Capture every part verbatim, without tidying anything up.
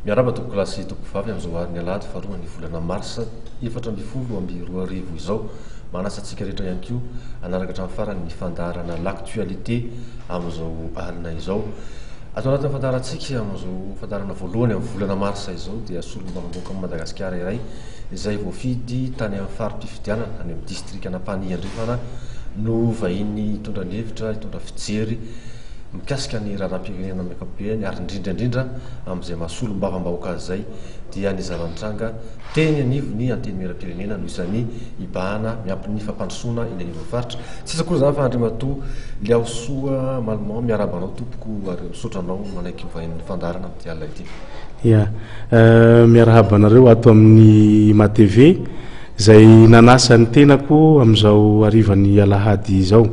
Miarahaba tompokolahy sy tompokovavy amin'izao alin'ny alahady faharoa ny volana marsa efatra ambin'ny folo amby roa arivo izao. Manasa antsika rehetra ihany koa hanaraka hatramin'ny farany ny fandaharana L'actualité amin'izao alina izao. Ato anatin'ny fandaharantsika amin'izao fandaharana voalohany amin'ny volana marsa izao dia solombavambahoaka amin'i Madagasikara iray izay voafidy tany amin'ny fari-pifidianana any amin'ny distrikan'Ampanihy Andrefana no vahiny hitondra ny hevitra, hitondra fijery mikasika ny raharaham-pirenena amin'ny ankapobeny ary indrindra indrindra amin'izay maha solombavambahoaka azy izay dia ny zava-nitranga teny anivon'ny Antenimierampirenena no isan'ny hibahana miampy ny fampandrosoana eny anivon'ny faritra. Tsy iza akory izany fa Andriamatoa Liaosoa Malmont. Miarahaba anao tompoko ary misaotra anao manaiky ho vahinin'ny fandaharana amin'ity alina ity. Ya, miarahaba anareo ato amin'ny M A T V izay nanasa ny tenako amin'izao harivan'ny alahady izao.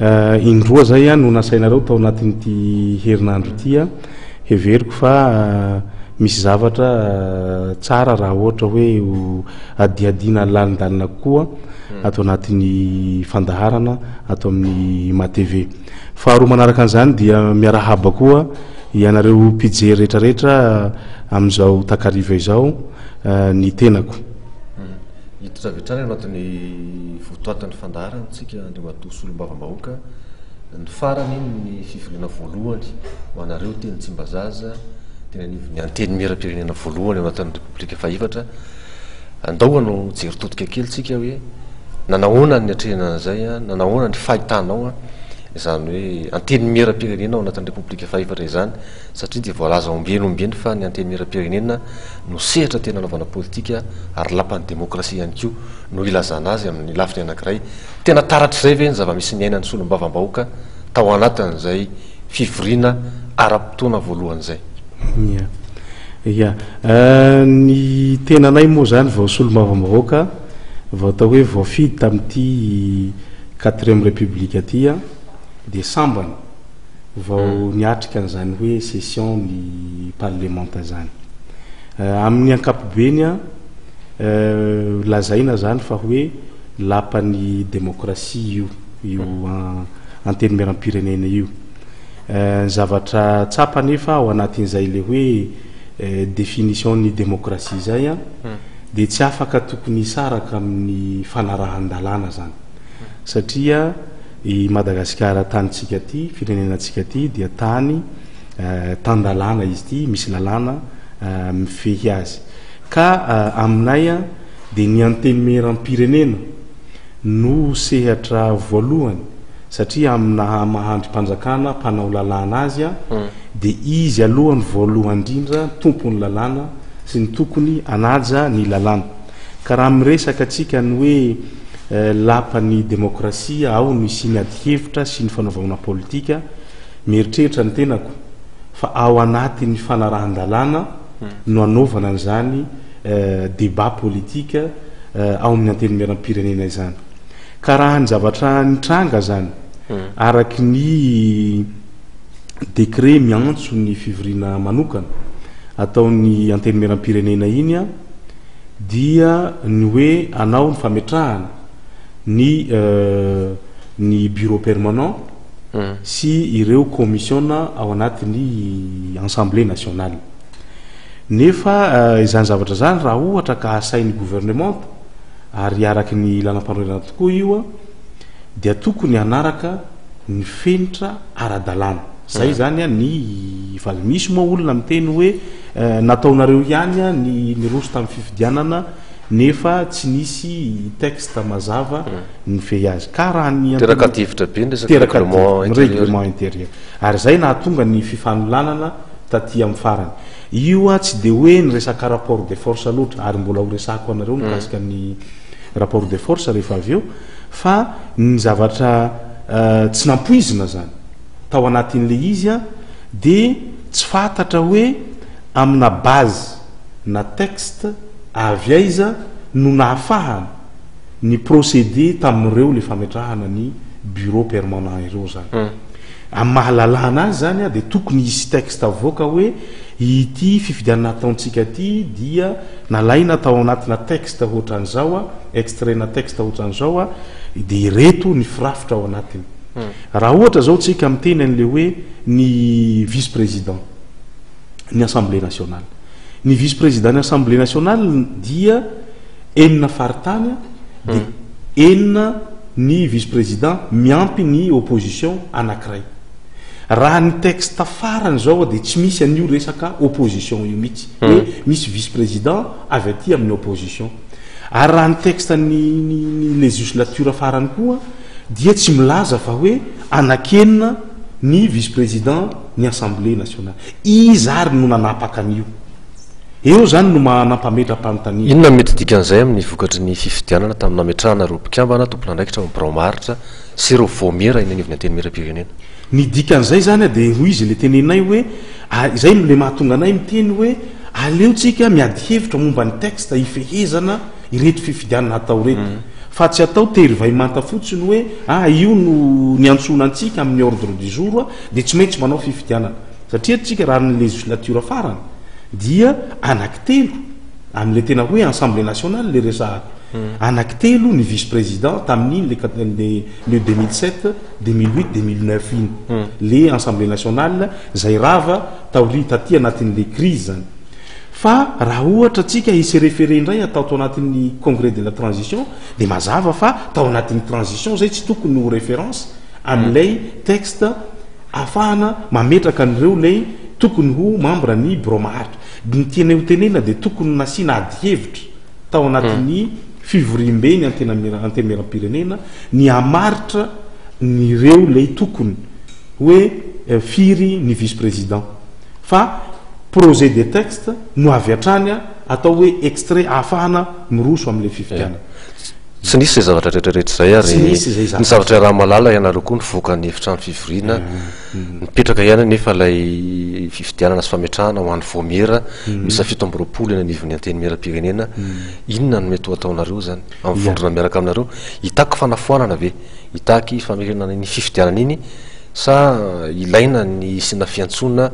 Indroa zay a no nasainareo tao anatin'ity herinandro ity a heveriko fa misy zavatra tsara raha ohatra hoe adiadina lalindalina kokoa ato anatin'ny fandaharana ato amin'ny M A T V. Faharoa manaraka an'izany dia miarahaba koa ianareo mpijery rehetrarehetra amin'izao takariva izao ny tenako. Hiditra avy hatrany anatin'ny votoatin'ny fandaharana tsika, Andriamatoa solombavambahoaka. Ny farany ny fivoriana voalohany ho anareo teny Tsimbazaza, teny anivon'ny Antenimierampirenena voalohany ao anatin'ny Repoblika fahefatra. Andao hanao jery todika kely tsika hoe nanahoana ny atrehina an'izay a nanahoana ny fahitanao a izany hoe Antenimierampirenena ao anatin'ny Repoblika fahefatra izany, satria dia voalaza ombieny ombieny fa ny Antenimierampirenena no sehatra tena anaovana politika ary lapan'ny demokrasia ihany koa no ilazana azy amin'ny lafiny anankiray. Tena taratr'izay ve ny zava-misy ny ainany solombavambahoaka tao anatin'izay fivoriana ara-potoana voalohan'izay? Ya, ya, ny tenanay moa zany vao solombavambahoaka, vao atao hoe voafidy tamin'ity quatrième république aty a de sambany vao niatrika an'izany hoe session ny parlementa zany. Amin'ny ankapobeny a lazaina zany fa hoe lapan'ny demokrasia io io Antenimieram-pirenena io. Ny zavatra tsapa nefa ao anatin'izay le hoe définition ny démocratie zay a de tsy afaka tokony hisaraka amin'ny fanarahan-dalàna zany, satria i Madagasikara tanytsika ty, firenenantsika ty, dia tany tan-dalàna izy ty, misy lalàna mifehy azy. Ka aminay a de ny Antenimieram-pirenena no sehatra voalohany, satria amina mahandry-mpanjakana mpanao lalàna azy a de izy alohany voalohany indrindra tompony lalàna sy ny tokony anaja ny lalàna. Ka raha miresaka atsika ny hoe lapan'ny demokrasia ao no isy ny ady hevitra sy ny fanaovana politika, mieritreritra ny tenako fa ao anatin'ny fanarahan-dalàna no anaovana an'izany débat politique ao amin'ny Antenimieram-pirenena izany. Ka raha ny zavatra nitranga zany, araky ny décret miantso ny fivoriana manokana ataon'ny Antenimieram-pirenena iny a dia ny hoe anao ny fametrahana ny ny bureau permanent sy ireo commission ao anatin'ny Assemblée nationale. Nefa izany zavatra zany, raha ohatra ka asain'ny gouvernement ary araky ny lalam-panorenana tokoa io a dia tokony hanaraka ny fenitra ara-dalàna zay zany a ny fa misy moa olona miteny hoe nataonareo ihany a ny niroso tamin'ny fifidianana nefa tsy nisy texte mazava ny fehy azy. Ka raha ny Teraka adihevitra be ny resaka règlement intérieur. Règlement intérieur ary zay nahatonga ny fifanolanana taty amin'ny farany io a tsy de hoe ny resaka rapport de force loatra, ary mbola ho resako anareo mikasika ny rapport de force rehefa avy eo, fa ny zavatra tsy nampoizina zany tao anatin'le izy a de tsy fantatra hoe amina base na texte avy aiza no nahafahana ny procédé tamin'ireo le fametrahana ny bureau permanent ireo zany. Amy mahalalàna azy zany a de tokony hisy texte avoaka hoe ity fifidianana ataontsika ty dia nalaina tao anatina texte ohatran'izao a extrait na texte ohatran'izao a de ireto ny firafitra ao anatiny. Raha ohatra zao tsika miteny an'le hoe ny vice président ny Assemblée nationale Ny vice président ny Assemblée nationale dia enina faritany, de enina ny vice président miampy ny opposition anankiray. Raha ny texte farany zao de tsy misy an'io resaka opposition io mihitsy, hoe misy vice président avy aty amin'ny opposition. Ary raha ny texte ny ny législature farany koa dia tsy milaza fa hoe anakenina ny vice président ny Assemblée nationale. Izy ary no nanapaka an'io eo zany no manampametra-panontania. Inona mety dikan'izay amin'ny vokatry ny fifidianana tamin'ny nametrahana reo mpikambana tompon'andraikitra birao maharitra sy ireo vaomiera eny anivon'ny Antenimieram-pirenena? Ny dikan'izay zany a, de ho izy le teneninay hoe zay le mahatonga anay miteny hoe aleotsika miady hevitra momba ny texte ifehezana ireto fifidianana atao reto, mm. fa tsy atao tery vaimanta fotsiny hoe ah io no ny antsona antsika amin'ny ordre du jour a, de tsy maintsy manao fifidianana. Satria tsika raha ny législature farany dia anaky telo am'le tena hoe Assemblée nationale le resahako, mm. anaky telo ny vice président tamin'iny le le deux mille sept, deux mille huit, deux mille neuf iny, mm. le Assemblée nationale zay rava taori taty anatin'le crise zany. Fa raha ohatra atsika isy référé indray atao tao anatin'ny congrès de la transition, de mazava fa tao anatin'ny transition zay tsy tokony ho référence am'lay texte ahafahana mametraka an'ireo lay tokony ho membre ny bureau maharitra. Ny tiana ho tenena de tokony nasiana ady hevitra tao anatin'ny fivoriambe ny Antenimieram-pirenena ny amaritra nyreo lay tokony hoe eh, firy ny vice président, fa projet de texte no avy atrany a atao hoe extrait ahafahana miroso am'le fifidianana. Tsy nisy zay zavatra rehetrarehetra zay, ary ny zavatra raha malala ianareo koa nyvoaka ny efitrano fivoriana mm, mm. Mipetraka ihany nefa lay fifidianana sy fametrahana ho an'ny vaomiera mm. misy fito amby roapolo eny anivon'ny Antenimieram-pirenena. Inona no mety ho ataonareo zany amin'ny vondrona miaraka aminareo? Hitaky fanafoanana ve, hitaky famerenana ny fifidianana iny, sa ilaina ny sina fiantsona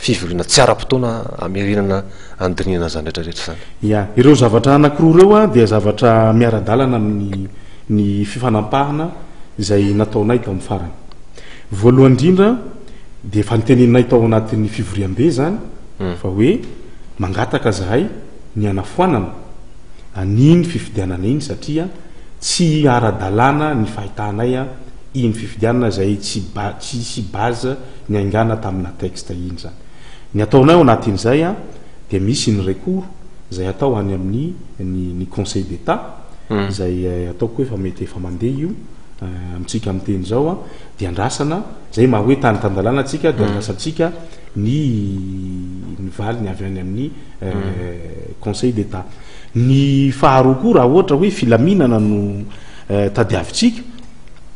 fivoriana tsy ara-potoana amerina andrinina zany rehetrarehetra zany? Ya, ireo zavatra anakiroa reo a dia zavatra miara-dalana amin'ny ny fifanampahana izay nataonay tao amin'ny farany. Voalohany indrindra de efa niteneninay tao anatin'ny fivoriambe zany hmm. fa hoe mangataka zahay ny anafoanana aniny fifidianana iny, satria tsy ara-dalàna ny fahitanay a iny fifidianana zay tsy ba tsisy base ny aingana tamina texte iny zany. Ny ataonay ao anatin'izay a de misy ny recours zay atao any amin'ny ny ny Conseil d'État hmm. zay eh, ataoko hoe fa mety efa mandeha io eh, amitsika am'teny zao a de andrasana zay maha hoe tany tan-dalàna atsika, de hmm. andrasantsika ny ny valiny avy any amin'ny eh, hmm. Conseil d'État. Ny faharoa koa, raha ohatra hoe filaminana no tadiavitsika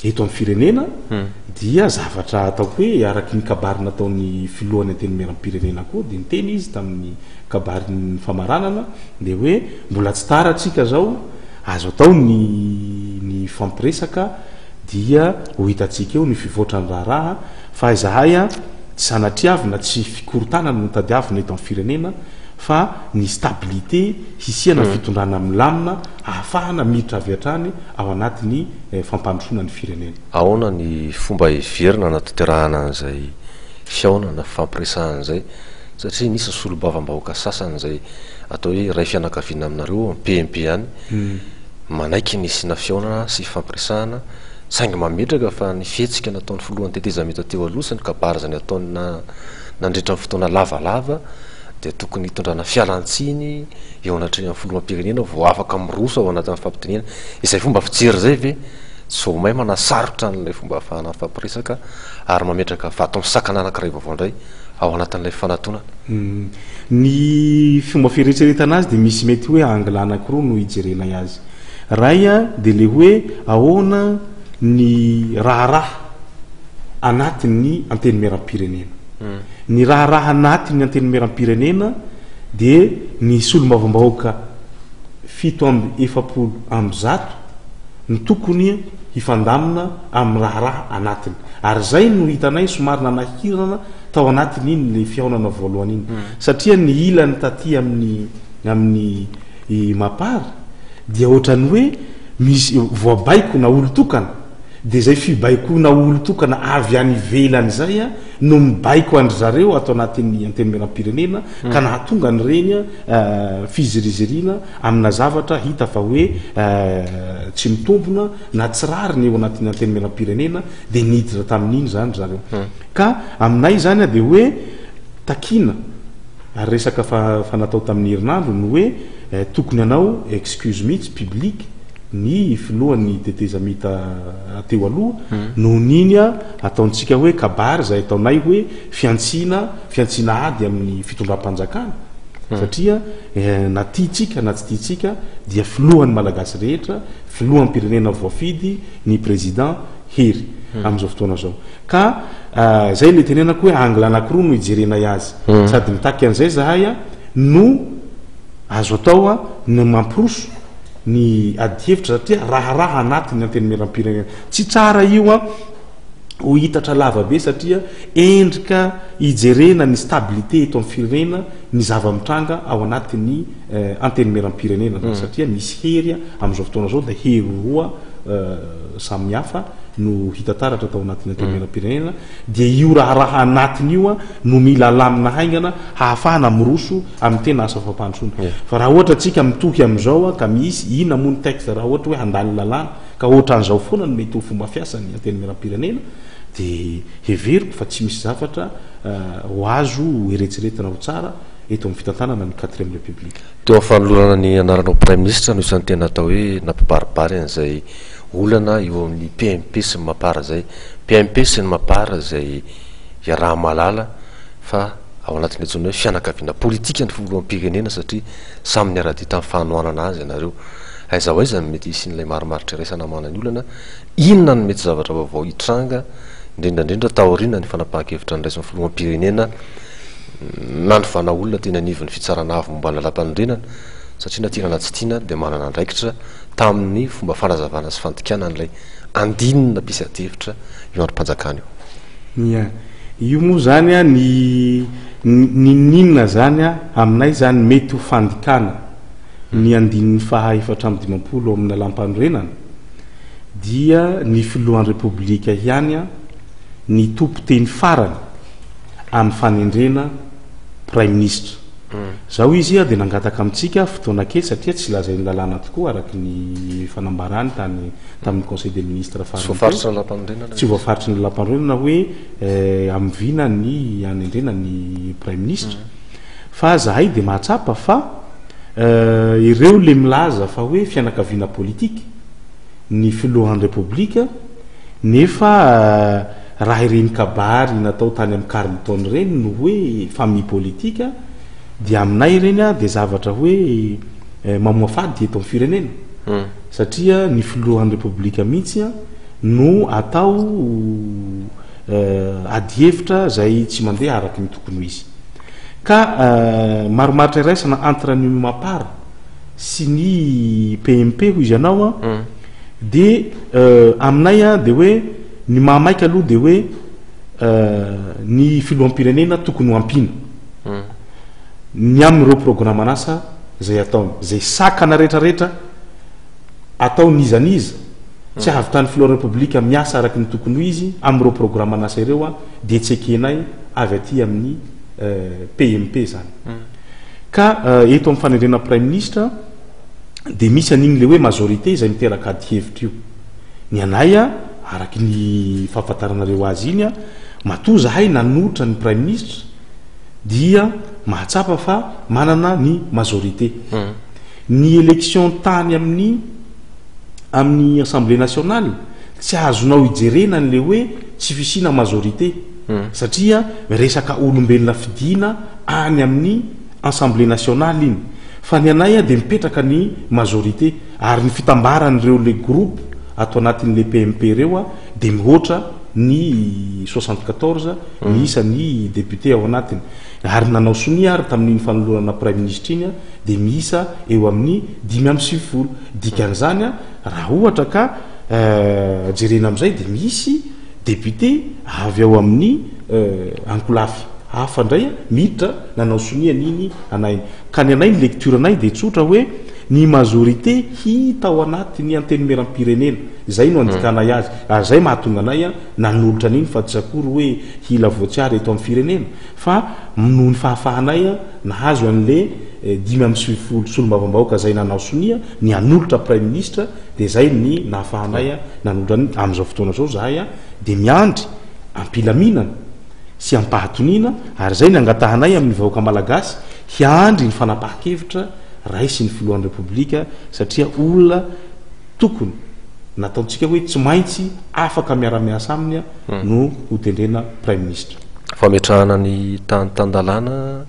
eto amin'ny firenena, dia zavatra ataoko hoe araky ny kabary nataony filohan'ny Antenimieram-pirenena koa, de niteny izy tamin'ny kabaryny famaranana de hoe mbola tsy tara atsika zao, azo atao ny ny fampiresaka, dia ho hitatsika eo ny fivoatra ny raharaha. Fa izahay a tsy sanatriavina, tsy fikorotanana no tadiavina eto amin'ny firenena, fa ny stabilité hisiana mm. fitondrana milamina ahafahana miditra avy hatrany ao anatin'ny eh, fampandrosoana ny firenena. Ahoana ny fomba heverina anatanterahana an'izay fihaonana fampiresahan'zay? Satria nisy solombavambahoaka sasany zay atao hoe ray fianakaviana aminareo P M P any mm. manaiky ny sina fihaonana sy fampiresahana, saingy mametraka fa ny fihetsika nataon'ny filohan'ny tetezamita teo aloha sy ny kabary zany ataona nandritra ny fotoana lavalava de tokony hitondrana fialantsiny eo anatrehan'ny filohampirenena vo afaka miroso ao anatin'ny fampidinena. Izay fomba fijery zay ve tsy vao may manasarotra n'lay fomba ahafahana mifampiresaka ary mametraka vato misakana anankiray vaovao indray ao anatin'ilay fanatonana? mm. Ny fomba fieritreretana azy de misy mety hoe angle anankiroa no ijerenay azy. Ray a de le hoe ahoana ny raharaha anatin'ny Antenimieram-pirenena mm. Ny raharaha anatin'ny Antenimieram-pirenena de ny solombavambahoaka fito amby efapolo amby zato ny tokony hifandamina amin'ny raharaha anatiny, ary zay no hitanay somary nanahirana tao anatiny iny le fihaonana voalohany iny mm. satria ny ilany taty amin'ny amin'ny MAPAR dia ohatrany hoe misy voabaiko na olo tokana De zay fibaikoana olo tokana avy any ivelany zay a no mibaiko andry zareo atao anatin'ny Antenimieram-pirenena, ka nahatonga ny reny a fiziriziriana amina zavatra hita fa hoe tsy mitombona na tsy rariny eo anatin'ny Antenimieram-pirenena, de niditra tamin'iny zany zareo. Ka aminay zany a de hoe takina ary resaka fa fa natao tamin'ny herinandro no hoe tokony anao excuse mihitsy publique ny filohan'ny tetezamita teo aloha noho niny a ataontsika hoe kabary zay ataonay hoe fiantsina fiantsina ady amin'ny fitondram-panjakana, satria na tiatsika na tsy tiatsika dia filohan'ny Malagasy rehetra, filohan'ny-pirenena voafidy ny président Hery am'izao fotoana zao. Ka zay le tenenako hoe angle anakiroa no ijerenay azy, sady mitaky an'izay zahay a no azo atao a ny mampiroso ny adihevitra, satria raharaha anatin'ny Antenimieram-pirenena tsy tsara io a ho hitatra lava be, satria endrika ijerena ny stabilité eto amin'ny firenena ny zava-mitranga ao anatin'ny Antenimieram-pirenena, satria misy hery a am'izao fotoana zao, de hery roa samihafa no hitataratra atao anatin'ny Antenimieram-pirenena. De io raharaha anatiny io a no mila lamina haingana hahafahana miroso amin'ny tena asa fampandrosoana. Fa raha ohatra atsika mitohy am'izao a ka misy inona moa ny texte, raha ohatra hoe handany lalàna ka ohatran'izao foana no mety ho fomba fiasany Antenimieram-pirenena, de heveriko fa tsy misy zavatra ho azo eretseretina ho tsara eto amin'ny fitantanana ny quatrième République. Teo amin'ny fanolorana ny anaranao premier ministre no isan'ny tena atao hoe nampibaribary an'izay olana eo amin'ny P M P sy ny MAPAR zay. P M P sy ny MAPAR zay iaraha malala fa ao anatin'ny antsoina hoe fianakaviana politika ny filoham-pirenena, satria samy niara-dia tamin'ny fanohanana azy ianareo. Aiza ho aiza mety hisian'ilay marimaritra iraisana manany olana? Inona no mety zavatra vaovao hitranga, indrindrandrindra taoriana ny fanapahan-kevitra nyraisin'ny filoham-pirenena nanovana olona tena anivon'ny fitsarana avo momba ny lalàm-panorenana, satria na tiana na tsy tiana dia manana andraikitra tamin'ny fomba fanazavana sy fandikana n'ilay andininy nampisy adihevitra io androm-panjakana io? Ia, io moa zany a ny nininona zany a aminay zany mety ho fandikana ny andininy faha efatra amby dimampolo amin'ny lalàm-panorenana, dia ny filohan'ny Repoblika ihany a ny tompo teny farany amin'ny fanendrena premier ministre. Zao izy a de nangataka amintsika fotoana kely, satria tsy lazain'ny lalàna tokoa araky ny fanambarany tany tamin'ny conseil des ministres. Tsy voafaritry ny lalàm-panorenana. Tsy voafaritry ny lalàm-panorenana hoe am'vina ny anendrena ny premier ministre. Fa zahay de mahatsapa fa ireo le milaza fa hoe fianakaviana politique ny filohan'ny Repoblika, nefa raha ireny kabary natao tany amin'ny Carlton reny no hoe famille politique, de aminay ireny a de zavatra hoe mamoafady eto amin'ny firenena, satria ny filohan'ny Repoblika mihitsy a no atao adihevitra zay tsy mandeha araky ny tokony ho izy. Ka marimaritra iraisana entre ny MAPAR sy ny P M P hoy izy anao a de aminay a de hoe ny mahamaika aloha de hoe ny filoham-pirenena tokony ho ampina ny amin'ireo programme anasa zay ataony, zay sakana rehetrarehetra atao nizaniza tsy ahavitany filoha Repoblika miasa araky ny tokony ho izy am'ireo programme anasa ireo a de tsy ekenay avy aty amin'ny P M P zany. Ka eto amin'ny fanendrena premier ministre de misy an'igny le hoe majorité zay miteraka ady hevitra io. Ny anay a araky ny fahafantaranareo azy iny a matoa zahay nanolotra ny premier ministre dia mahatsapa fa manana ny majorité. Ny élection tany amin'ny amin'ny Assemblée nationale tsy azonao ijerena n'le hoe tsy fisina majorité, satria resaka olombelona fidina any amin'ny Assemblée nationale iny. Fa ny anay a de mipetraka ny majorité, ary ny fitambaran'ireo le groupe atao anatin'le P M P reo a de mihoatra ny soixante quatorze ny isan'ny député ao anatiny, ary nanao sonia ary tamin'iny fanolorana premier ministre iny a de miisa eo amin'ny dimy amby sivifolo. Dikan'izany a raha ohatra ka jerena am'izay de misy député avy ao amin'ny ankolafy hafa indray a miditra nanao sonia niny anay. Ka ny anay, ny lecture anay de tsotra hoe Ny majorité hita ao anaty ny Antenimieram-pirenena zay no andikanay azy, ary zay mahatonga anay a nanolotra an'iny, fa tsy akory hoe hila voatsiary eto amin'ny firenena, fa noho ny fahafahanay a nahazo an'le eh, dimy amby sivifolo solombavambahoaka zay nanao sonia ny anolotra premier ministre, de zay ny nahafahanay a nanolotra any. Am'izao fotoana zao zahay a de miandry ampilaminana sy ampahatoniana, ary zay ny angatahanay amin'ny vahoaka malagasy hiandry ny fanapaha-kevitra raisy ny filohan'ny Repoblika, satria olona tokony nataontsika hoe tsy maintsy afaka miara-miasa aminy a no hotendrena premier ministre. Fametrahana ny tany tan-dalàna,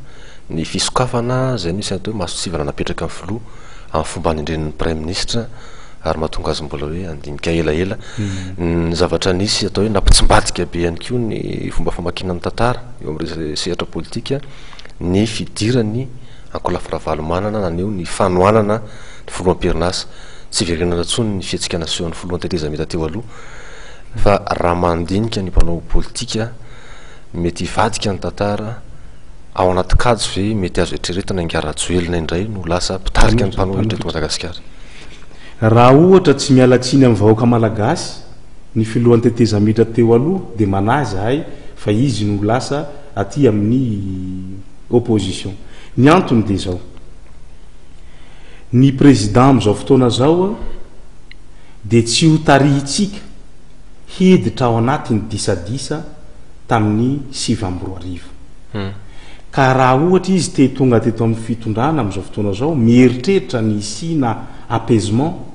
ny fisokafana zay nisy atao hoe masontsivana napetraka amin'ny filoha amin'ny fomba anendren'ny premier ministre, ary mahatonga azy mbola hoe andinika elaela ny zavatra nisy atao hoe nampitsimbadika be ihany koa ny fomba famakiana ny tantara eo amin'ireo sehatra politika, ny fidirany ankolafy Ravalomanana naneho ny fanohanana ny filoham-pirinasa. Tsy verenana intsony ny fihetsika nasehon'ny filohan'ny tetezamita teo aloha, fa raha mandinika ny mpanao politika, mety hivadika ny tantara ao anaty kajy ve? Mety azo eritreretina ingahy Rajoelina indray no lasa mpitarika ny mpanohitra eto Madagasikara? Raha ohatra tsy mialatsiny amin'ny vahoaka malagasy ny filohan'ny tetezamita teo aloha, de manahy zahay fa izy no lasa aty amin'ny opposition. Ny antony de zao: ny président am'izao fotoana zao a de tsy ho tarihitsika hiditra ao anatin'ny disadisa tamin'ny sivy amby roa arivo. Ka raha ohatra izy te tonga teto amin'ny fitondrana am'izao fotoana zao, mieritreritra ny isina apaisement,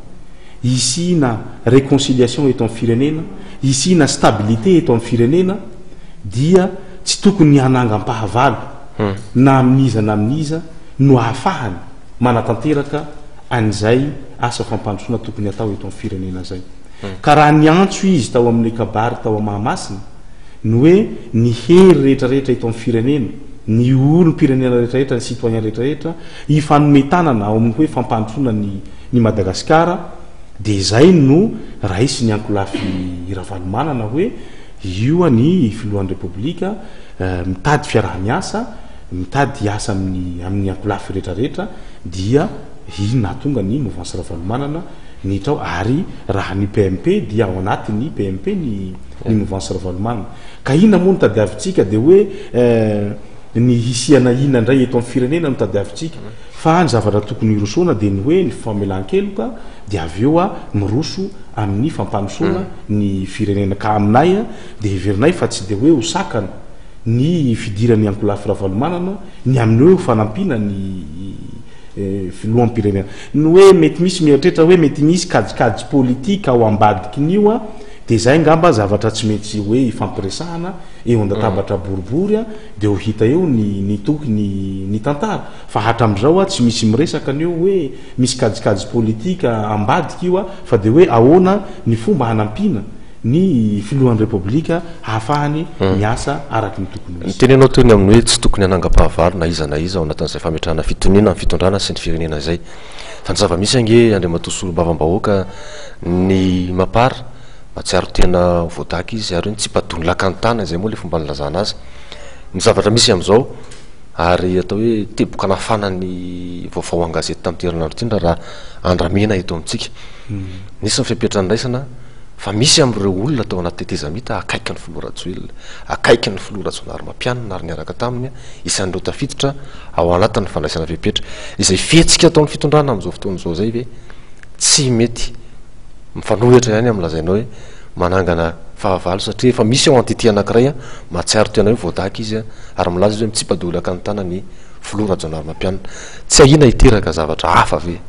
isina réconciliation eto amin'ny firenena, isina stabilité eto amin'ny firenena, dia tsy tokony hanangam-pahavalo na amin'iza na amin'iza no ahafahany manatanteraka an'izay asa fampandrosoana tokony atao eto amin'ny firenena zay. Ka raha ny antso izy tao amin'ny kabary tao Mahamasina ny hoe ny hery rehetrarehetra eto amin'ny firenena, ny olom-pirenena rehetrarehetra, ny citoyen rehetrarehetra ifanometanana ao amin'ny hoe fampandrosoana ny ny Madagasikara, de zay no raisy ny ankolafy Ravalomanana hoe io a ny filohan'ny Repoblika eh, mitady fiaraha-miasa, mitady asa amin'ny amin'ny ankolafy rehetrarehetra, dia iny nahatonga ny mouvance Ravalomanana nitra ao. Ary raha ny P M P dia ao anatin'ny P M P ny ny mouvance Ravalomanana. Ka inona moa no tadiavintsika? De hoe eh, ny hisiana inona indray eto amin'ny firenena no tadiavintsika? Fa ny zavatra tokony hirosoana de ny hoe ny famelan-keloka, de avy eo a miroso amin'ny fampandrosoana ny firenena. Ka aminay a de heverinay fa tsy de hoe ho sakana ny fidirany ankolafy Ravalomanana ny amin'ny hoe ho fanampiana ny eh, filoham-pirenena. Ny hoe mety misy mieritreritra hoe mety misy kajikajy politika ao ambadikin'io a de zay ngamba zavatra tsy maintsy hoe ifampiresahana eo an-databatra boribory a de ho hita eo ny ny toky ny ny tantara. Fa hatram'izao a tsy misy miresaka an'io hoe misy kajikajy politika ambadika io a fa de hoe ahoana ny fomba hanampiana ny filohan'ny Repoblika ahafahany miasa araky ny tokony ho izy. Ny teny anao teo ny amin'ny hoe tsy tokony hanangam-pahavalo na iza na iza ao anatin'izay fametrahana fitoniana amin'ny fitondrana sy ny firenena izay, fa ny zava-misy ange, andriamatoa solombavambahoaka, ny MAPAR mahatsiaro tena voadaka izy ary hoe nitsipadony lakantana izay moa le fomba nilazana azy ny zavatra misy am'izao, ary atao hoe teboka nafana ny vaovao an-gazety tamin'ity herinandro ity raha andramena eto amintsika. Nisy ny fepetra niraisana, fa misy am'ireo olona tao anaty tetezamita akaiky ny filoha Rajoelina, akaiky ny filoha Rajaonarimampianina, ary niaraka taminy, isan'ireo tafiditra ao anatin'ny fandraisana fepetra. Izay fihetsika ataon'ny fitondrana am'izao fotoana izao zay ve tsy mety mifanohitra ihany amin'ny lazainao hoe manangana fahavalo, satria efa misy ao entité anankiray a mahatsiaro tena hoe voadaka izy a ary milaza izy hoe mitsipadolaka ny tana ny filoha Rajaonarimampianina? Tsy ahiana hiteraka zavatra hafa ve?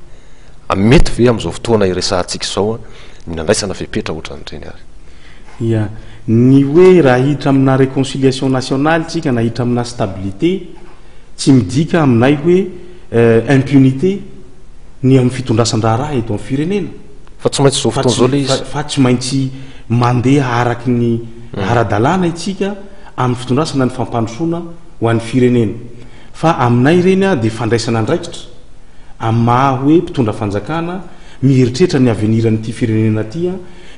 Mety ve am'izao fotoana iresahantsika izao a ny nandraisana fepetra ohatran'ireny ary? Ya, ny hoe raha hiditra amina réconciliation nationale tsika na hiditra amina stabilité, tsy midika aminay hoe euh, impunité ny amin'ny fitondrasan-draharaha eto amin'ny firenena. Fa tsy maintsy zao fa fotoana zao le tsy, izy fa, fa tsy maintsy mandeha araky ny ara-dalàna itsika amin'ny fitondrasana ny fampandrosoana ho an'ny firenena. Fa aminay ireny a de fandraisana andraikitra amin'ny maha hoe mpitondra fanjakana, mieritreritra ny aveniran'ity firenena ty a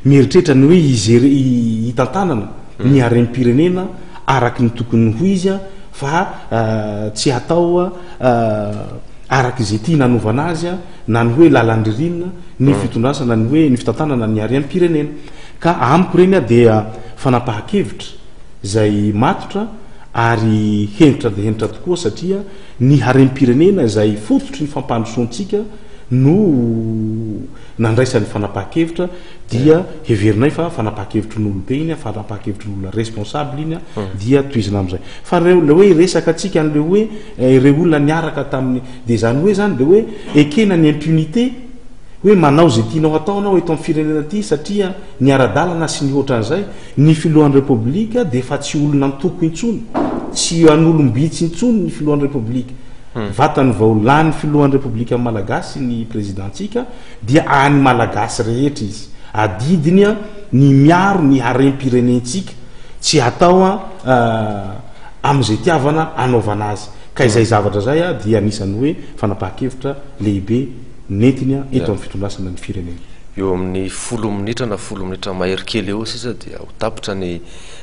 mieritreritra ny hoe izy hitantanana ny harem-pirenena araky ny tokony ho izy a fa uh, tsy atao a uh, Araka izay tia nanovana azy a, na ny hoe lalan-dririnina ny mm. fitondrasana, ny hoe ny fitantanana ny harem-pirenena. Ka amiko reny a dia fanapaha-kevitra zay matotra ary hentitra de hentitra tokoa, satria ny harem-pirenena zay fototry ny fampandrosoantsika no nandraisan'ny fanapaha-kevitra, dia heverinay fa fanapaha-kevitry ny olobe iny a, fanapaha-kevitry ny olona responsable iny a, hmm. dia toizina am'izay. Fa reo le hoe resaka atsika an'le hoe eh, reo olona niaraka tamin'ny, de zany hoe zany de hoe ekena ny impunité, hoe manao zay tianao ataonao eto amin'ny firenena ty, satria ny ara-dalana sy ny ohatran'izay. Ny filohan'ny Repoblika de efa tsy olona antoko intsony, tsy an'olom-bitsy intsony ny filohan'ny Repoblika hmm. Vatany vao lany filohan'ny Repoblika malagasy ny présidentsika, dia any Malagasy rehetra izy. Adidiny a ny miaro ny harem-pirenentsika, tsy atao a euh, am'izay tiavana anaovana azy. Ka izay zavatra zay a dia anisan'ny hoe fanapaha-kevitra lehibe nentiny a eto amin'ny fitondrasana ny firenena. Eo amin'ny folo minitra na folo minitra mahery kely eo sisa dia ho tapitra ny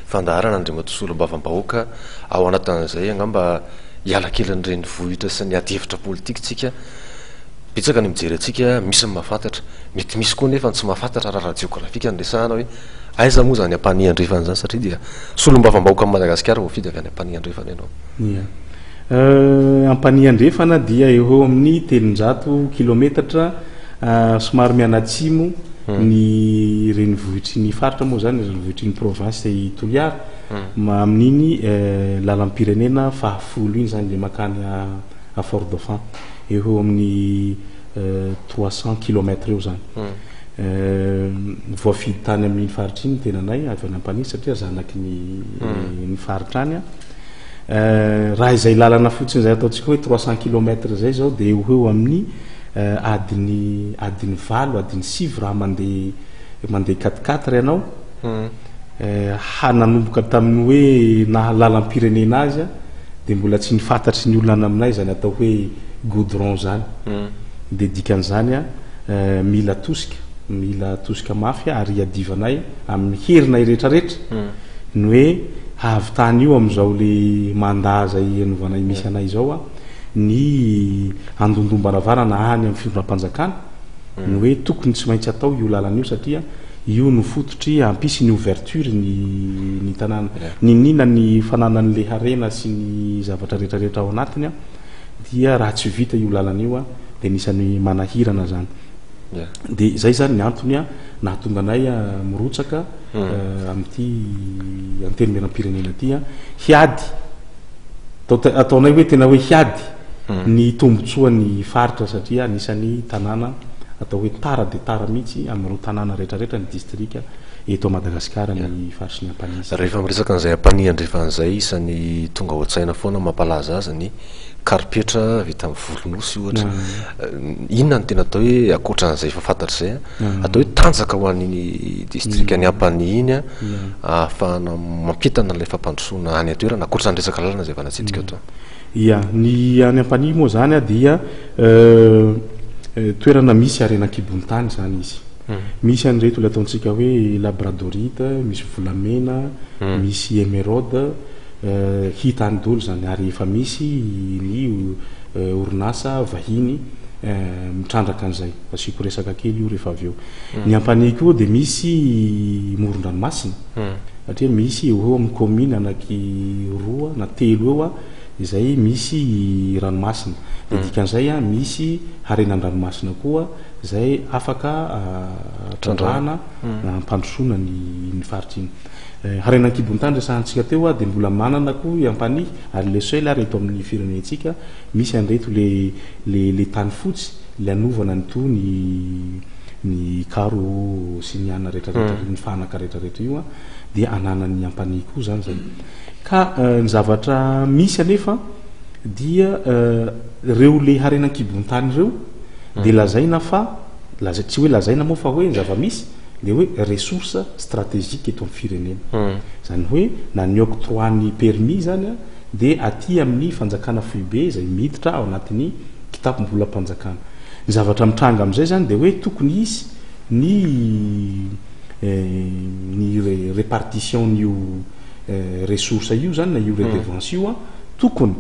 fandaharana, andriamatoa solombavambahoaka. Ao anatin'izay angamba hiala kely ny renivohitra sy ny adihevitra politika tsika. Betsaka ny mijery atsika, misy ny mahafantatra, mety misy koa nefa ny tsy mahafantatra raha raha jeografika ny resahana, hoe aiza moa zany Ampanihy Andrefana zany, satria dia solombavambahoaka amin'ny Madagasikara voafidy avy any Ampanihy Andrefana ianao. Ia, euh, Ampanihy Andrefana dia eo eo amin'ny telonjato kilometatra euh, somary mianatsimo hmm. ny renivohitry ny faritra moa zany, renivohitry ny province i Toliara hmm. amin'iny euh, lalam-pirenena fahafolo iny zany, le makany a Fort Dauphin, eo eo amin'ny trois cent kilomètres eo zany hmm. Voafidy tany amin'iny faritra iny tenanay avy any Ampanihy, satria zanaky ny ny faritra any a. Raha izay lalana fotsiny zay ataontsika hoe trois cent kilomètres zay zao, de eo eo amin'ny adiny adiny valo, adiny sivy raha mandeha mandeha quatre-quatre ianao hmm. Ha nanomboka tamin'ny hoe naha lalam-pirenena azy a, de mbola tsy nifantatry ny olona any aminay zany atao hoe goudron zany hmm. De dikan'izany a, mila tosika, mila tosika mafy, ary iadivanay amin'ny herinay rehetrarehetra hmm. ny hoe hahavitany io am'izao le mandat zay anovanay misy anay izao a, ny andondombaravara-na any amin'ny fitondram-panjakana ny hoe tokony tsy maintsy atao io lalana io, satria io no fototry ampisy ny ouverture ny ny tanàna ninina ny fananan'le harena sy ny zavatra rehetrarehetra ao anatiny a. Dia raha tsy vita io lalana io a, de nisan'ny manahirana zany. De zay zany ny antony a nahatonga anay a mirotsaka hmm. amin'ity antenimieram-pirenena ty a, hiady, ataonay hoe tena hoe hiady hmm. ny tombotsoa ny faritra, satria anisan'ny tanàna atao hoe tara de tara mihitsy am'ireo tanàna rehetrarehetra ny distrika eto Madagasikara ny faritry ny Ampanihy. Rehefa miresaka an'izay Ampanihy Andrefan'izay, isan'ny tonga ao an-tsaina foana mampalaza azy ny karipetra vita amin'ny volonosy ohatra mm. Inona ny tena atao hoe, akoatran'izay efa fantatra zay a, mm. atao hoe tanjaka ho an'iny distrika ny Ampanihy iny a, ahafahana mampitana an'ilay fampandrosoana any an-toerana, akoatran'ny resaka lalana zay efa natsidika atao? Ia, ny any Ampanihy moa zany a dia euh, euh, toerana misy harena an-kibon'ny tany zany izy hmm. Misy an'ireto le ataontsika hoe labradorite, misy volamena, hmm. misy émeraude euh, hita any dolo zany, ary efa misy ny orinasa vahiny mitrandraka an'izay. Asiako resaka kely io rehefa avy eo hmm. Ny Ampanihy koa de misy moron-dranomasina, satria misy eo eo amin'ny commune anaky roa na telo eo a izay misy ranomasina, de mm. dikan'izay a misy harenan-dranomasina koa zay afaka trandrahana mm. ampandrosoana ny ny faritra iny eh, Harena an-kibon-tany resahantsika teo a, de mbola manana koa Ampanihy, ary le seul ary eto amin'ny firenentsika misy anreto le le le tany fotsy le anovana ny to ny ny karo sy ny ana rehetrarehetra mm. ny fanaka rehetrarehetra io a, de ananany Ampanihy koa zany zay. Ka eh, ny zavatra misy anefa dia eh, reo le harena an-kibon-tany ireo de mm. lazaina fa laza, tsy hoe lazaina moa fa hoe ny zava-misy le hoe ressource stratégique eto amin'ny firenena mm. Zany hoe na ny octroi ny permis zany a, de aty amin'ny fanjakana foibe zay miditra ao anatin'ny kitapom-bolam-panjakana. Ny zavatra mitranga am'izay zany de hoe tokony isy ny eh, ny répartition n'io ressource io zany na io redevance io a, tokony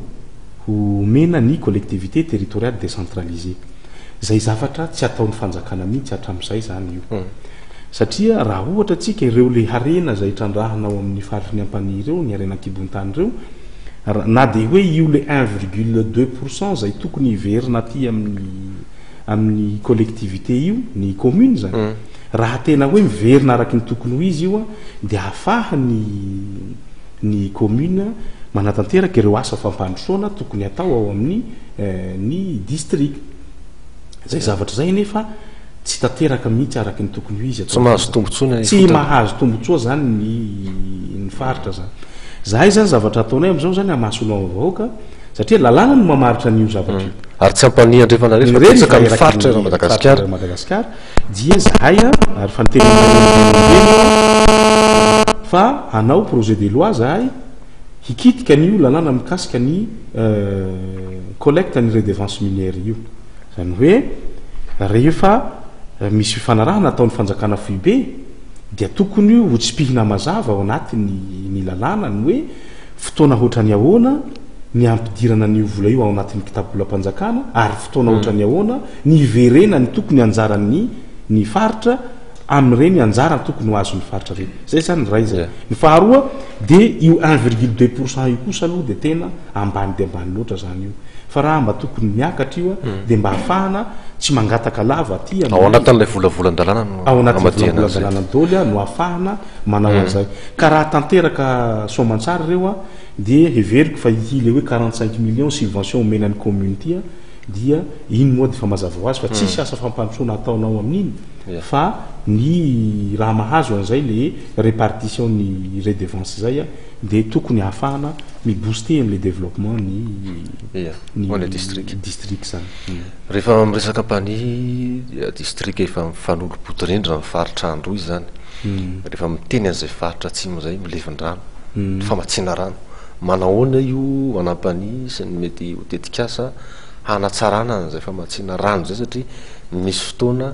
Homena ny collectivité territoriale décentralisée zay, zavatra tsy ataon'ny fanjakana mihitsy hatram'izay zany io hmm. Satria raha ohatra atsika ireo le harena zay trandrahana ao amin'ny faritry ny Ampanihy ireo, ny harena an-kibon'ny tany ireo, na de hoe io le un virgule deux pourcent zay tokony hiverina aty amin'ny amin'ny collectivité io, ny commune zany mm. raha tena hoe miverina araky ny tokony ho izy io a, de ahafaha ny ny commune manatanteraka ireo asa fampandrosoana tokony atao ao amin'ny eh, ny district zay. Zavatra zay nefa tsy tanteraka mihitsy araky ny tokony ho izy. Tsy mahazo tombotsoa. Tsy mahazo tombotsoa zany ny ny faritra zany. Zahay zany, zavatra ataonay am'izao zany amasolo vahoaka, satria lalàna no mamaritra n'io zavatra io. mm. Ary tsy Ampanihy andrefana rehetra, ny faritra ra Madagasikara. Madagasikara dia zahay a, ary fa niteny fa anao projet de loi zahay hikitika n'io lalàna mikasika ny euh, collecte ny redevance minière io. Zany hoe rehefa misy fifanarahana ataon'ny fanjakana foibe, dia tokony ho tsipihina mazava ao anaty ny ny lalàna ny hoe fotoana hoatrany ahoana ny ampidirana ny vola io ao anatin'ny kitabolam-panjakana, ary fotoana mm. ohatrany ahoana ny iverena ny tokony anjarany ny faritra am'ireny anjara tokony ho azon'ny faritra reny. Zay zany ray zay. Ny faharoa de io un virgule deux pourcent io kosa aloha de tena ambany de ambany loatra zany io, fa raha mba tokony miakatra io a, mm. de mba ahafahana tsy mangataka lava aty. Ao anatin'lay volavolan-dalàna. Ao anatin'ny volavolan-dalàna daoly a no ahafahana manao mm. an'izay. Ka raha tanteraka soamantsara ireo a, de heveriko fa ity le hoe quarante cinq millions subvention omenany commune ty a, dia iny moa de fa mazava ho azy fa tsisy mm. asa fampandrosoana ataonao amin'iny, fa ny raha mahazo an'izay le répartition ny redevance zay a, de tokony ahafahana mibooster am'le développement ny ny district. District zany. Rehefa miresaka Ampanihy, district efa mifanolo-bodirindrina ny faritra Androy zany mm. Rehefa miteny an'izay faritra atsimo zay, milevin-drano mm. famatsiana rano, manahoana io an'Ampanihy sy ny mety ho tetikasa hanatsarana an'izay famatsiana rano zay? Satria misy fotoana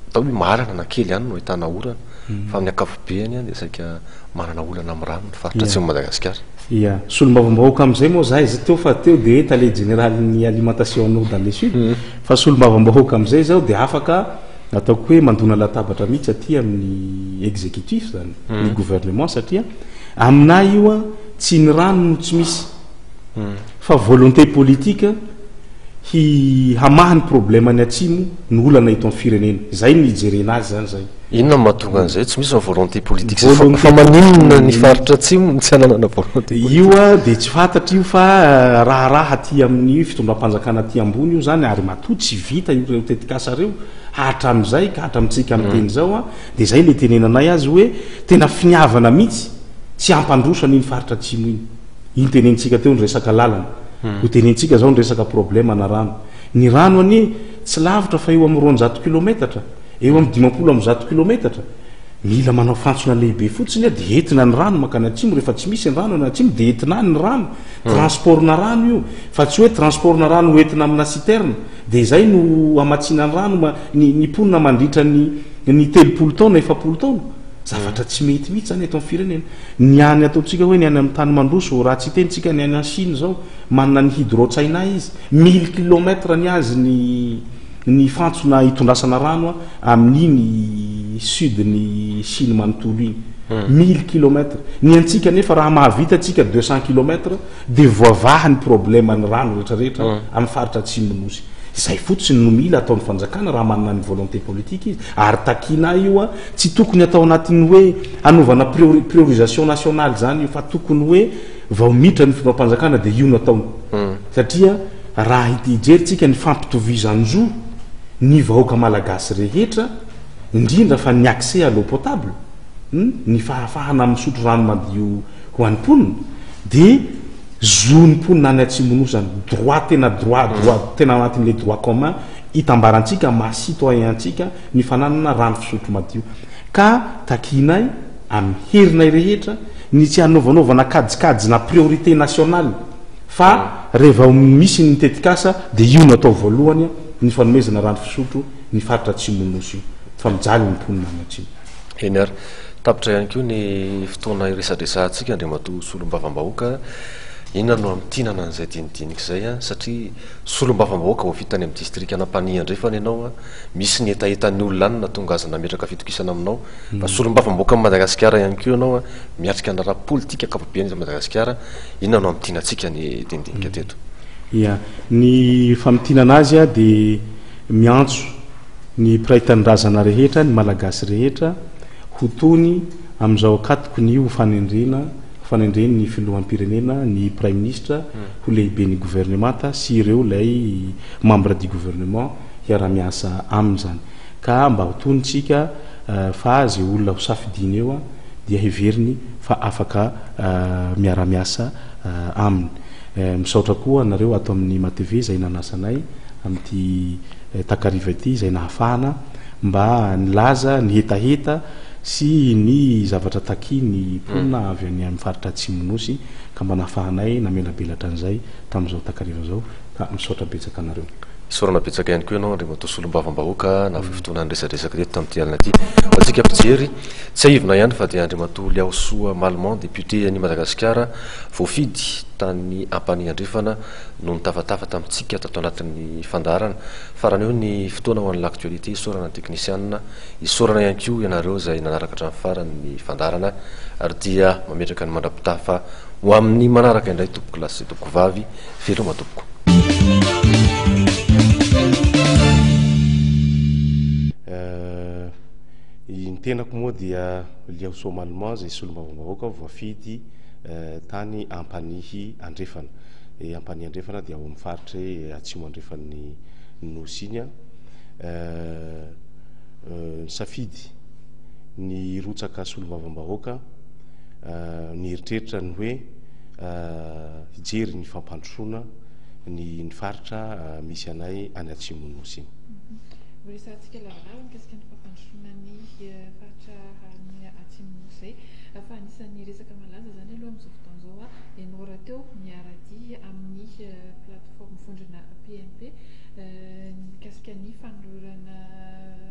atao hoe marana na kely ihany no ahitana orana mm. fa amin'ny ankapobeany a de saika manana olana amy rano ny faritra atsimo Madagasikara. Ia, solombavambahoaka am'izay moa zahay za teo, fa teo de hoe tale général ny alimentation en eau dans le sud mm. Fa solombavambahoaka am'izay zao de afaka ataoko hoe mandona latabatra mihitsy aty amin'ny exécutif zany mm. ny gouvernement, satria aminay io a, tsy ny rano no tsy misy fa volonté politique hi hamaha ny problème ny atsimo ny olana eto amin'ny firenena zay ny ijerena azy zany zay. Inona mahatonga an'izay tsy misy volonté politique? Fa maninona ny faritra atsimo tsy ananana volonté? Io a, de tsy fantatra io, fa eh, raharaha aty amin'ny fitondram-panjakana aty ambony io zany, ary matoa tsy vita io reo tetikasa reo hatram'izay ka hatramitsika amy teny zao a, de zay le tenenanay azy hoe tena finiavana mihitsy tsy ampandrosana iny faritra atsimo iny. Iny tenenitsika teo ny resaka lalana, ho tenenitsika zao ny resaka problème na rano. Ny rano anie tsy lavitra fa eo amy roanjato kilometatra, eo amy dimampolo amy zato kilometatra. Mila manao fantsona lehibe fotsiny a, de entina ny rano makany atsimo. Rehefa tsy misy ny rano any atsimo, de entina any ny rano, transport na rano io, fa tsy hoe transport na rano hoentina amina citerne de zay no amatsina ny rano ma ny ny mponina mandritra ny ny telopolo taona, efapolo taona. Zavatra tsy mety mihitsy zany eto amin'ny firenena. Ny any ataontsika hoe ny any amin'ny tany mandroso, raha tsy tenitsika ny any an Chine zao, manana ny Hydro-China izy, mille kilomètre ny azy ny ny fantsona hitondrasana rano a amin'iny sud ny Chine manontolo iny, mille kilomètre. Ny antsika nefa raha mahavita atsika deux cent kilomètre, de voavaha ny problème ny rano rehetrarehetra amin'ny faritra atsimonosy zay. Fotsiny no mila ataon'ny fanjakana raha manana ny volonté politique izy, ary takina io a, tsy tokony atao anatin'ny hoe anaovana priori- priorisation nationale zany io, fa tokony hoe vao mitra ny fitondram-panjakana de io no ataony, satria raha ity ijerytsika ny fampitovizan-jo ny vahoaka malagasy rehetra, indrindra fa ny accès à l'eau potable, hmm? ny fahafahana misotro rano madio ho an'ny mponina, de zo ny mponina any atsimonosy zany, droit, tena droit droit tena anatin'le droit commun hitambarantsika maha citoyen antsika ny fananana rano fisotro madio. Ka takinay amin'ny herinay rehetra ny tsy hanaovanaovana kajikajy na priorité nationale, fa rehefa misy ny tetikasa de io no atao voalohany a, ny fanomezana rano fisotro ny faritra atsimonosy io, fa mijaly ny mponina any atsimo. Eny ary, tapitra ihany koa ny fotoana iresadresantsika, andriamatoa solombavambahoaka. Inona no hamintinana an'izay dinidinika izay a? Satria solombavambahoaka voafidy tany amin'ny distrika an'Ampanihy Andrefana ianao a, misy ny hetahetan'ny olona any nahatonga azy nametraka fitokisana aminao, fa solombavambahoaka amin'i Madagasikara ihany koa ianao a, miatrika ny raharaha politika ankapobeny eto Madagasikara. Inona no hamintinantsika ny dinidinika teto? Ia, ny famintinana azy a dia miantso ny mpiray tanindrazana rehetra, ny Malagasy rehetra ho tony amin'izao ankatoko ny ho fanendrena fanendreny ny filoham-pirenena ny praiminisitra ho lehiben'ny gouvernemanta sy ireo lay membre du gouvernement hiara-miasa aminy zany, ka mba ho tony tsika fa zay olona ho safidiny eo a dia heveriny fa afaka miara-miasa aminy. Misaotra koa anareo ato amin'ny M A T V zay nanasanay amin'ity takariva ity, zay nahafahana mba nilaza ny hetaheta sy ny zavatra taki ny mponina avy any amin'ny faritra Atsimo-Nosy, ka mba nahafahanay namelabelatra an'izay tamin'izao takariva zao, ka misaotra betsaka anareo. Isaorana betsaka ihany koa ianao, andriamatoa solombavambahoaka, na fotoana ny resadresaka teto tamin'ity alina ity. Antsika mpijery, tsy aivina ihany fa dia andriamatoa Liaosoa Malman, député any Madagasikara, voafidy tany Ampanihy Andrefana, no nitafatafa tamintsika tato anatin'ny fandaharana. Farany eo ny fotoana ho an'ny l'actualité. Isaorana ny teknisianina, isaorana ihany koa ianareo zay nanaraka hatramin'ny farany ny fandaharana, ary dia mametraka ny mandra-pitafa ho amin'ny manaraka indray, tompoko lahy sy tompoko vavy. Veloma tompoko. Ny tenako moa dia Liaosoa Malman, zay solombavambahoaka voafidy tany Ampanihy Andrefana. Ampanihy Andrefana dia ao amin'ny faritra Atsimo Andrefan'ny Nosy iny a. Ny safidy ny rotsaka solombavambahoaka, ny eritreritra ny hoe hijery ny fampandrosoana ny ny faritra misy anay any Atsimo Nosy iny. Resahantsika lavalava mikasika ny fampandrosoana ny faritra ny Atsimo Nosy zay, fa anisan'ny resaka malaza zany aloha amin'izao fotoana izao a, ianao raha teo miara-dia amin'ny plateforme vondrona P M P mikasika ny fanolorana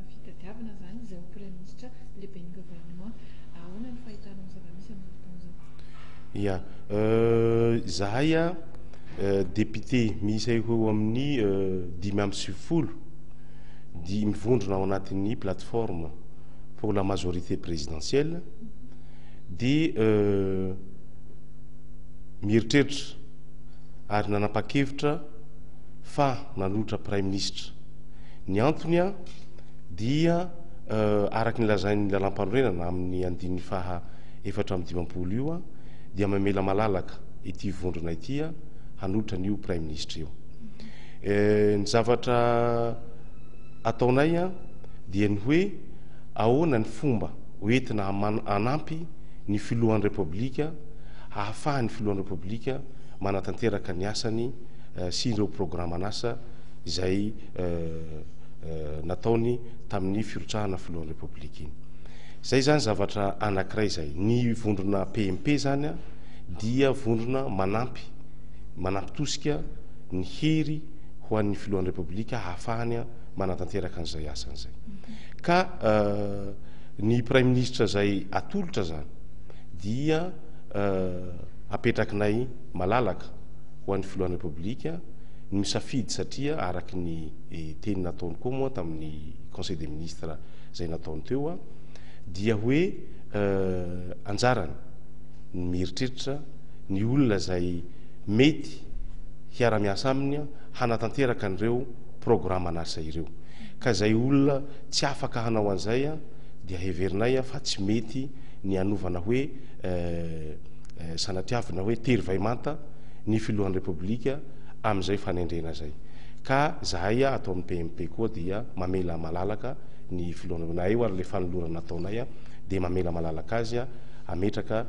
fitadiavana zany izay ho premier ministre, lehiben'ny gouvernement. Ahoana ny fahitanao ny zava-misy amin'izao fotoana izao? Ia, zahay a député miisa eo amin'ny dimy amby sivifolo di mivondrona ao anatin'ny Plateforme pour la majorité présidentielle, di mieritreritra ary nanapa-kevitra fa nanolotra premier ministre. Ny antony a dia araky ny lazain'ny lalam-panorenana amin'ny andininy faha efatra amby dimampolo io a, dia mamela malalaka ity vondrona ity a hanolotra an'io premier ministre io. Ny zavatra ataonay a dia ny hoe ahoana ny fomba hoentina anampy ny filohan'ny Repoblika, ahafahan'ny filohan'ny Repoblika manatanteraka ny asany sy ireo programme-nasa izay nataony tamin'ny firotsahana filohan'ny Repoblika iny. Zay zany zavatra anankiray zay. Ny vondrona P M P zany a dia vondrona manampy manampy tosika ny hery ho an'ny filohan'ny Repoblika ahafahany a manatanteraka an'izay asan'izay. Ka ny premier ministre zay atolotra zany dia apetrakinay malalaka ho an'ny filohan'ny Repoblika ny misafidy, satria araky ny teny nataony koa moa tamin'ny conseil des ministres zay nataony teo a dia hoe anjarany ny mieritreritra ny olona zay mety hiara-miasa aminy a hanatanteraka an'ireo programme anasa ireo. Ka zay olona tsy afaka hanao an'izay a dia heverinay a fa tsy mety ny anovana hoe sanatriavina hoe tery vaimanta ny filohan'ny Repoblika amin'izay fanendrena zay. Ka zahay a atao amin'ny P M P koa dia mamela malalaka ny filohana na eo ary le fanolorana ataonay a dia mamela malalaka azy a ametraka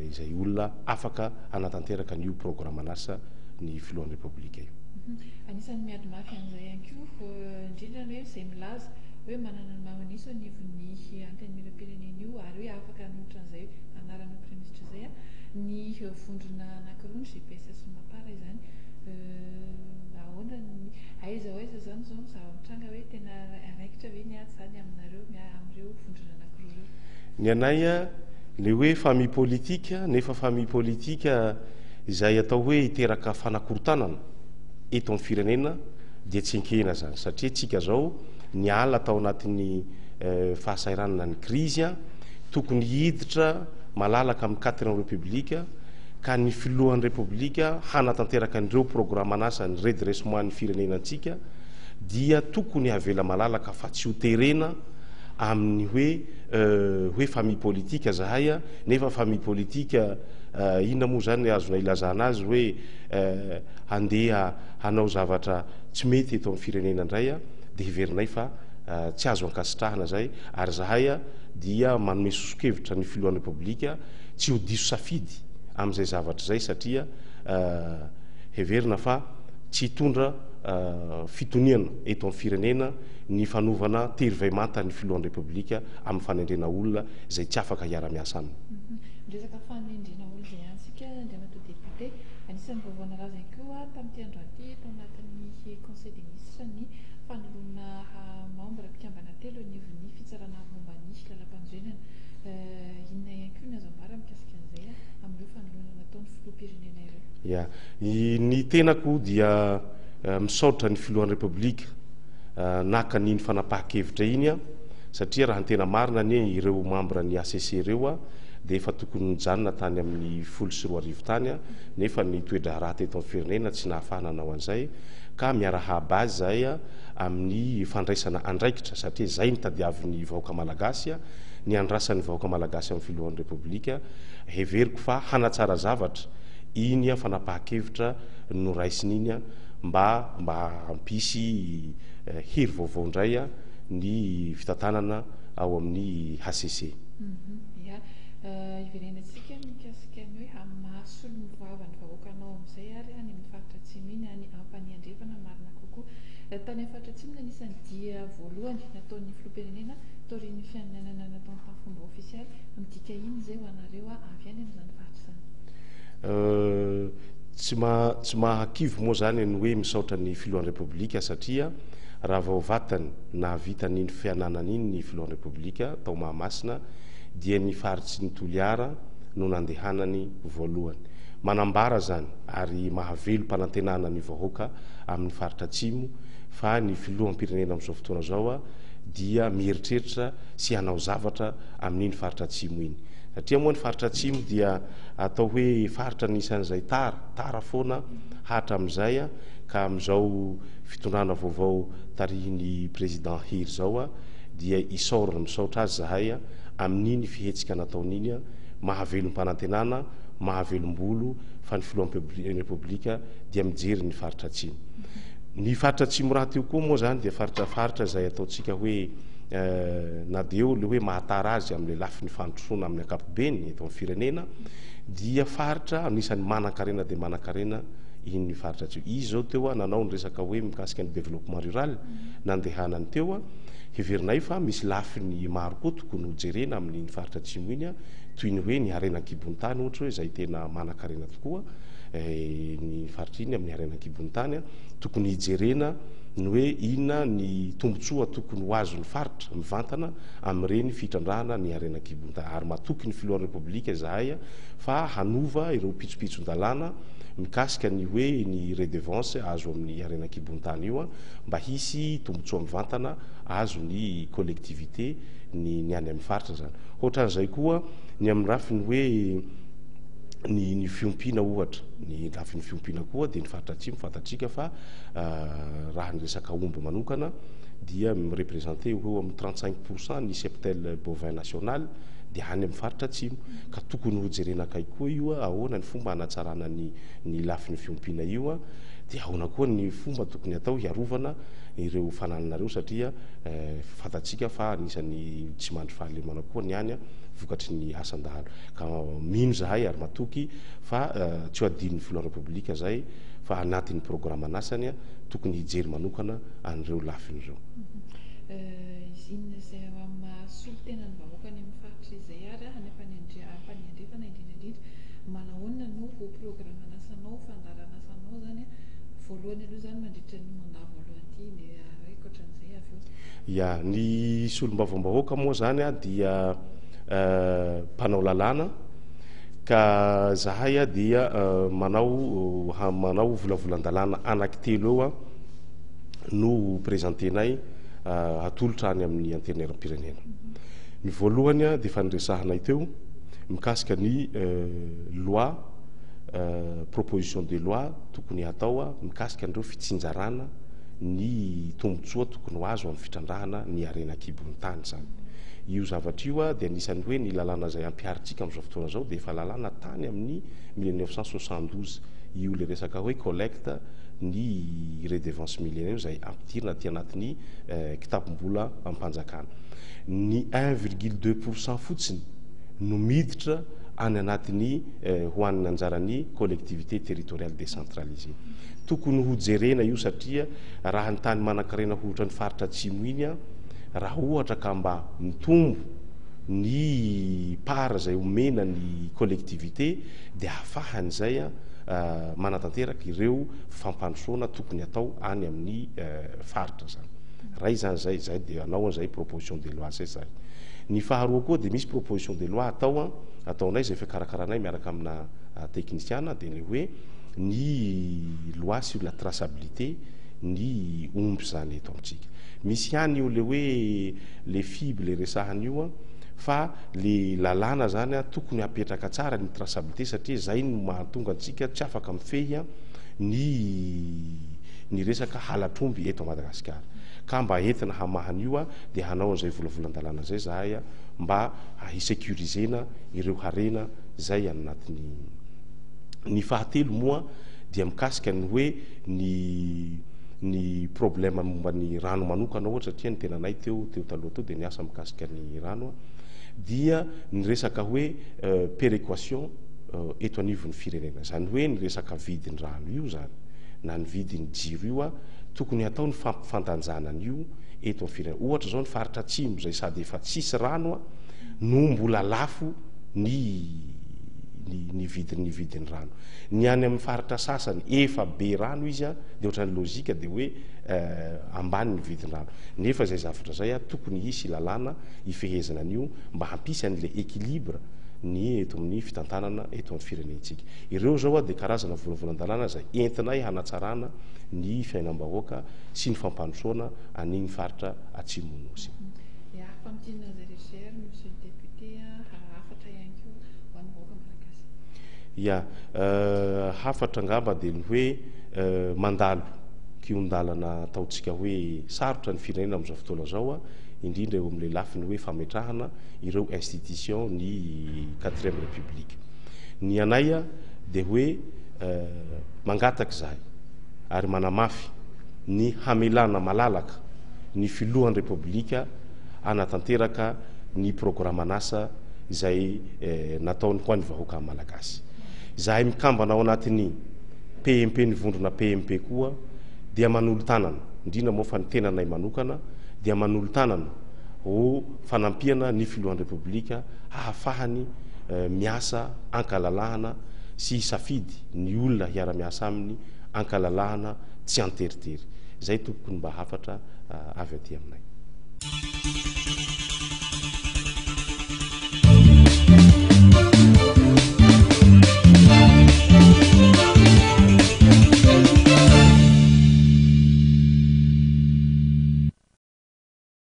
izay olona afaka anatanteraka ny io programme anasa ny filohan'ny Repoblika io. Anisan'ny miady mafy an'izay ihany koa, indrindra ny hoe zay milaza hoe manana ny maro anisa anivon'ny antenimieram-pirenena io ary hoe afaka hanolotra an'izay anarana premier ministre zay a, ny vondrona anankiroa, ny G P S sy MAPAR izany. Ahoana ny aiza ho aiza zany zao ny zava-mitranga, hoe tena raikitra ve ny ady zany aminareo amin'ireo vondrona anankiroa ireo? Ny anay a le hoe famille politique, nefa famille politique Izay atao hoe hiteraka fanakorontanana eto amin'ny firenena dia tsy ekena zany, satria tsika zao niala tao anatin'ny fahasahiranana, ny krizy, a tokony hiditra malalaka amin'ny quatrième république, ka ny filohan'ny république hanatanteraka an'ireo programme anasany redressement ny firenena antsika, dia tokony havela malalaka fa tsy ho terena amin'ny hoe hoe famille politique zahay, a nefa famille politique inona moa zany azona ilazana azy hoe andeha hanao zavatra tsy mety eto amin'ny firenena indray? A de heverinay fa tsy azo ankasitrahana zay, ary zahay a dia manome soso-kevitra ny filohan'ny république tsy ho diso safidy am'izay zavatra zay, satria heverina fa tsy hitondra fitoniana eto amin'ny firenena ny fanovana tery vaimanta ny filohan'ny république amin'ny fanendrena olona zay tsy afaka hiara-miasa aminy. Resaka fanendrena olo zay antsika, andriamatoa député, anisan'ny vaovao nalaza ihany koa tamin'ity andro aty tao anatin'ny conseil des ministres ny fanoloana membre mpikambana telo anivon'ny fitsarana momba ny lalam-panorenana. Inona ihany koa ny azo ambara mikasika an'izay amin'ireo fanoloana nataony filoham-pirenena ireo? Ya, ny tenako dia misaotra ny filohan'ny république naka n'iny fanapaha-kevitra iny, a satria raha ny tena marina anie, ireo membre ny H C C ireo a de efa tokony nijanona tany amin'ny folo sy roa arivo tany, a nefa ny toe-draharaha teto amin'ny firenena tsy nahafahana anao an'izay, ka miarahaba azy zay a amin'ny fandraisana andraikitra, satria zay nitadiavin'ny vahoaka malagasy, a ny andrasan'ny vahoaka malagasy amin'ny filohan'ny république. Heveriko fa hanatsara zavatra iny a fanapaha-kevitra no raisiny iny, a mba mba hampisy hery vaovao indray a ny fitantanana ao amin'ny H C C. Ya, iverenantsika mikasika ny hoe amin'ny maha-solombavambahoaka vahoakanao amin'izay ary any amin'ny faritra atsimo iny, any Ampanihy Andrefana marina kokoa. Tany amin'ny faritra atsimo no anisan'ny dia voalohany nataon'ny filoham-pirenena taorian'ny fianianana nataony tamin'ny fomba ofisialy. Midika iny zay ho anareo a avy any amin'izany faritra izany? Tsy ma tsy mahakivy moa zany ny hoe misaotra ny filohan'ny république, satria raha vao vatany nahavita n'iny fiananana iny ny filohan'ny république tao Mahamasina, dia ny faritsy ny Toliara no nandehanany voalohany. Manambara zany ary mahavelo mpanantenana ny vahoaka amin'ny faritra atsimo fa ny filoham-pirenena amin'izao fotoana zao a dia mieritreritra sy hanao zavatra amin'iny faritra atsimo iny, satria moa ny faritra atsimo dia atao hoe faritra nisan'izay tara tara foana hatra amin'izay, a ka am'izao fitondrana vaovao tarihiny président Hery zao a dia isaorana, misaotra azy zahay a amin'iny fihetsika nataon'iny, a mahavelom-panantenana, mahavelombolo fa ny filohan'ny république dia mijery ny faritra atsimo. Ny faritra atsimo raha teo koa moa zany dia faritra faritra zay ataontsika hoe na de eo le hoe mahatara azy am'le lafi ny fandrosoana amin'ny ankapobeny eto amin'ny firenena, dia faritra anisan'ny manan-karena de manan-karena iny faritra atsimo izy zao. Teo a nanao ny resaka hoe mikasika ny développement rural nandehanany teo, a heverinay fa misy lafiny maro koa tokony hojerena amin'iny faritra atsimo iny, a toy ny hoe ny harena an-kibon'ny tany ohatra, hoe zay tena manan-karena tokoa ny faritra iny amin'ny harena an-kibon'ny tany, a tokony hijerena ny hoe inona ny tombontsoa tokony ho azon'ny faritra mivantana amin'ireny fitrandrahana ny harena an-kibon'ny tany. Ary matoky ny filohan'ny république zahay a fa hanova ireo pitsopitson-dalàna mikasika ny hoe ny redevance azo amin'ny harena an-kibon'ny tany io, a mba hisy tombontsoa mivantana azo ny collectivité ny ny any amin'ny faritra zany. Ohatran'izay koa ny amin'ny rafiny hoe ny ny fiompiana ohatra, ny lafin'ny fiompiana koa dia ny faritra atsimo fantatsika fa raha ny resaka omby manokana dia mireprésente eo amin'ny trente cinq pourcent ny cheptel bovin national dia any amin'ny faritra atsimo, ka tokony hojerena akaiky koa io, a ahoana ny fomba hanatsarana ny ny lafin'ny fiompiana io, a dia ahoana koa ny fomba tokony atao hiarovana ireo fanananareo, satria fantatsika fa anisan'ny tsy mandry fahalemana koa ny any a vokatry ny asan-dahalo. Ka mino zahay ary matoky fa tsy ho adin'ny filohan'ny république zay, fa anatin'ny programme anasany a tokony hijery manokana an'ireo lafiny ireo. Inona izay maha-solotenan'ny vahoaka any amin'ny faritra izay ary any Ampanihy Andrefana indrindra indrindra, manahoana no ho programme anasanao, fandaharanasanao zany voalohany aloha zany mandritra ny mandat voalohany ity, dia ankoatran'izay avy eo? Ya, ny solombavambahoaka moa zany a dia mpanao lalàna. Ka zahay a dia manao manao volavolan-dalàna anankitelo eo a no présentenay, atolotra any amin'ny Antenimieram-pirenena. Ny voalohany a de efa niresahanay teo mikasika ny loi, proposition de loi tokony hatao a mikasika an'ireo fitsinjarana ny tombotsoa tokony ho azo amin'ny fitrandrahana ny harena an-kibon'ny tany. Zany io zavatra io a de anisan'ny hoe ny lalàna zay ampiharitsika am'izao fotoana zao de efa lalàna tany amin'ny mille neuf cent soixante douze io, le resaka hoe collecte ny redevance minière io, zay ampidirina aty anatin'ny kitapom-bola ampanjakana. Ny un virgule deux pourcent fotsiny no miditra any anatin'ny ho an'ny anjaran'ny collectivité territoriale décentralisée. Tokony ho jerena io, satria raha ny tany manan-karena ohatra ny faritra atsimo iny a, raha ohatra ka mba mitombo ny part zay omena ny collectivité, de ahafahany zay a manatanteraka ireo fampandrosoana tokony atao any amin'ny faritra zany. Ray zany zay zay de anao an'zay proposition de loi zay. Zay ny faharoa koa, de misy proposition de loi atao a ataonay zay fikarakaranay miaraka amina technicien, de le hoe ny loi sur la traçabilité ny omby zany eto amitsika. Misy ihany io le hoe le F I B le resahany io a, fa le lalàna zany a tokony apetraka tsara ny traçabilité, satria zay no mahatonga antsika tsy afaka mifehy a ny ny resaka halatr'omby eto Madagasikara. Ka mba entina hamahany io a, de hanao an'izay volavolan-dalàna zay zahay a mba hisécurisena ireo harena zay anatin'ny. Ny fahatelo moa dia mikasika ny hoe ny ny problème momba ny rano manokana ohatra, satria ny tenanay teo teo taloha teo de niasa mikasika ny rano a, dia ny resaka hoe euh, péréquation euh, eto anivon'ny firenena zany, hoe ny resaka vidiny rano io zany na ny vidiny jiro io a, tokony atao ny fampifandanjanana io eto amin'ny firenena. Ohatra zao, ny faritra atsimo zay sady efa tsisy rano a no mbola lafo ny ny vidiny vidiny rano. Ny any amin'ny faritra sasany efa be rano izy a, de ohatrany lozika de hoe eh, ambany ny vidiny rano. Nefa zay zavatra zay a tokony hisy lalàna ifehezana an'io mba hampisy an'le équilibre ny eto amin'ny fitantanana eto amin'ny firenentsika. Ireo zao a de karazana volavolan-dalàna zay entinay hanatsarana ny fiainam-bahoaka sy ny fampandrosoana an'iny faritra atsimonosy. Ya, famintinana zay rehetra, monsieur le député, hafatra ihany koa ho an'ny vahoaka malagasy. Ya, euh, hafatra angamba de ny hoe euh, mandalo kion-dalana ataontsika hoe sarotra ny firenena am'izao fotoana zao a, indrindra eo am'le lafiny hoe fametrahana ireo institution ny quatrième république. Ny anay a de hoe euh, mangataky zahay ary manamafy ny hamelana malalaka ny filohan'ny Repoblika anatanteraka ny programme-nasa izay eh, nataony ho an'ny vahoaka malagasy. Zahay mikambana ao anatin'ny P M P, ny vondrona P M P koa dia manolo-tanana, indrindra moa fa ny tenanay manokana dia manolo-tanana ho fanampiana ny filohan'ny Repoblika ahafahany eh, miasa ankalalahana sy safidy ny olona hiara-miasa aminy ankalalahana, tsy anteritery. Zay tompoko ny mba hafatra eh, avy aty aminay.